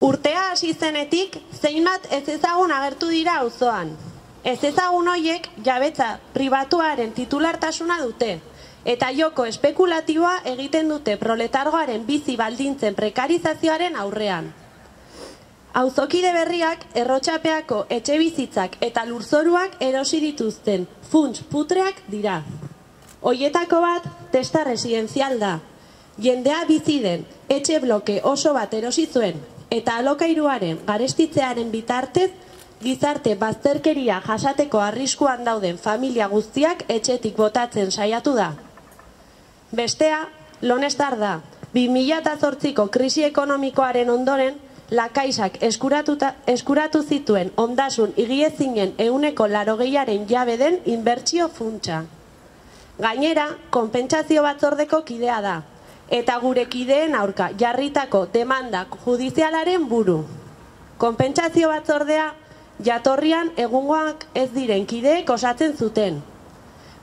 Urtea hasi zenetik, zeinbat ez ezagun agertu dira auzoan. Ez ezagun hoiek jabetza pribatuaren titulartasuna dute, eta joko espekulatiboa egiten dute proletargoaren bizi baldintzen prekarizazioaren aurrean. Auzokide berriak Errotxapeako etxebizitzak eta lurzoruak erosi dituzten funts putreak dira. Hoietako bat testa residenzial da. Jendea bizi den etxe bloke oso bat erosi zuen eta alokairuaren garestitzearen bitartez gizarte bazterkeria jasateko arriskuan dauden familia guztiak etxetik botatzen saiatu da. Bestea, Lonestar da. 2008ko krisi ekonomikoaren ondoren, La Caixak eskuratu zituen ondasun higiezinen 80%aren jabe den inbertsio funtsa. Gainera, konpentsazio batzordeko kidea da, eta gure kideen aurka jarritako demanda judizialaren buru. Konpentsazio batzordea jatorrian egungoak ez diren kideek osatzen zuten.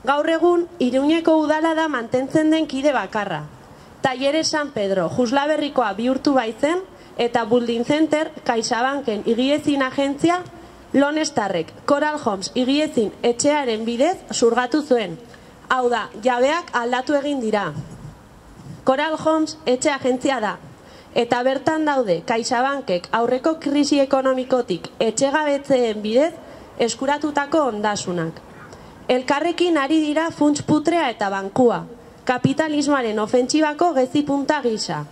Gaur egun, Iruñeko udala da mantentzen den kide bakarra. Talleres San Pedro Juslaberrikoa bihurtu baitzen, eta Building Center CaixaBanken higiezin agentzia Lonestarrek Coral Homes higiezin etxearen bidez zurgatu zuen. Hau da, jabeak aldatu egin dira. Coral Homes etxe agentzia da, eta bertan daude CaixaBankek aurreko krisi ekonomikotik etxegabetzeen bidez eskuratutako ondasunak. Elkarrekin ari dira funts putrea eta bankua, kapitalismoaren ofentsibako gezi punta gisa.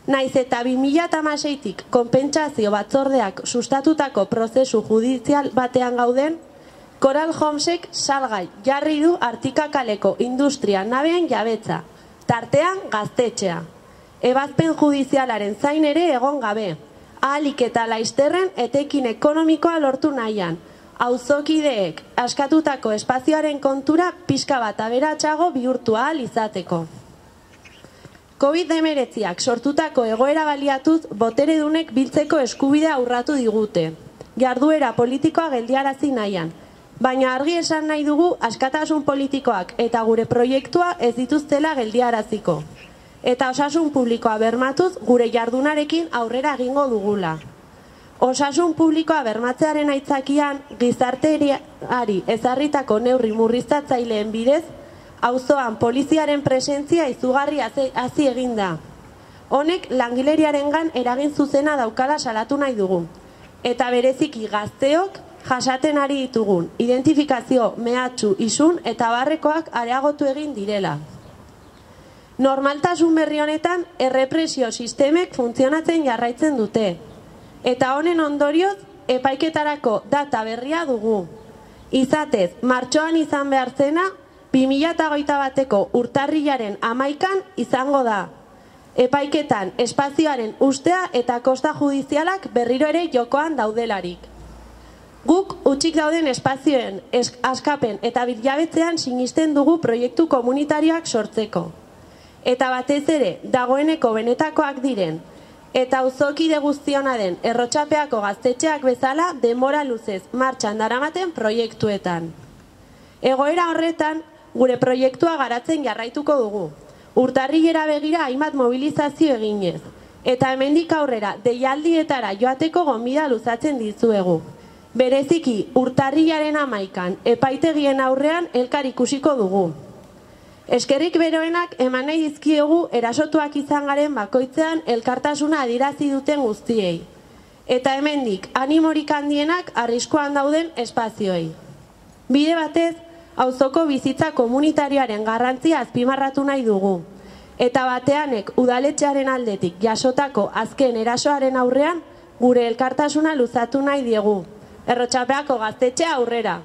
Naiz eta 2016tik konpentsazio batzordeak sustatutako prozesu judizial batean gauden, Coral Homesek salgai jarri du Artikakaleko industria nabean jabetza, tartean gaztetxea. Ebazpen judizialaren zain ere egon gabe, ahalik eta laizterren etekin ekonomikoa lortu nahian, auzokideek askatutako espazioaren kontura pixka bat aberatsago bihurtu ahal izateko. COVID-19ak sortutako egoera baliatuz boteredunek biltzeko eskubidea urratu digute. Jarduera politikoa geldiarazi nahian, baina argi esan nahi dugu askatasun politikoak eta gure proiektua ez dituztela geldiaraziko. Eta osasun publikoa bermatuz gure jardunarekin aurrera egingo dugula. Osasun publikoa bermatzearen aitzakian gizarteari ezarritako neurri murriztatzaileen bidez auzoan poliziaren presentzia izugarri hazi egin da. Honek langileriarengan eragin zuzena daukala salatu nahi dugu. Eta bereziki gazteok jasaten ari ditugun identifikazio, mehatxu, isun eta barrekoak areagotu egin direla. Normaltasun berri honetan errepresio sistemek funtzionatzen jarraitzen dute. Eta honen ondorioz epaiketarako data berria dugu. Izatez, martxoan izan behar zena 2021ko urtarrilaren 11an izango da. Epaiketan espazioaren ustea eta kosta judizialak berriro ere jokoan daudelarik. Guk utzik dauden espazioen askapen eta bilabetzean sinisten dugu proiektu komunitarioak sortzeko. Eta batez ere, dagoeneko benetakoak diren, eta auzokide guztiona den Errotxapeako gaztetxeak bezala denbora luzez martxan daramaten proiektuetan. Egoera horretan, gure proiektua garatzen jarraituko dugu. Urtarrilera begira hainbat mobilizazio eginez, eta hemendik aurrera deialdietara joateko gonbida luzatzen dizuegu. Bereziki, urtarrilaren 11an epaitegien aurrean elkar ikusiko dugu. Eskerrik beroenak eman nahi dizkiegu erasotuak izan garen bakoitzean elkartasuna adirazi duten guztiei. Eta hemendik animorik handienak arriskuan dauden espazioei. Bide batez, auzoko bizitza komunitarioaren garrantzia azpimarratu nahi dugu. Eta bateanek udaletxearen aldetik jasotako azken erasoaren aurrean gure elkartasuna luzatu nahi diegu. Errotxapeako gaztetxea aurrera!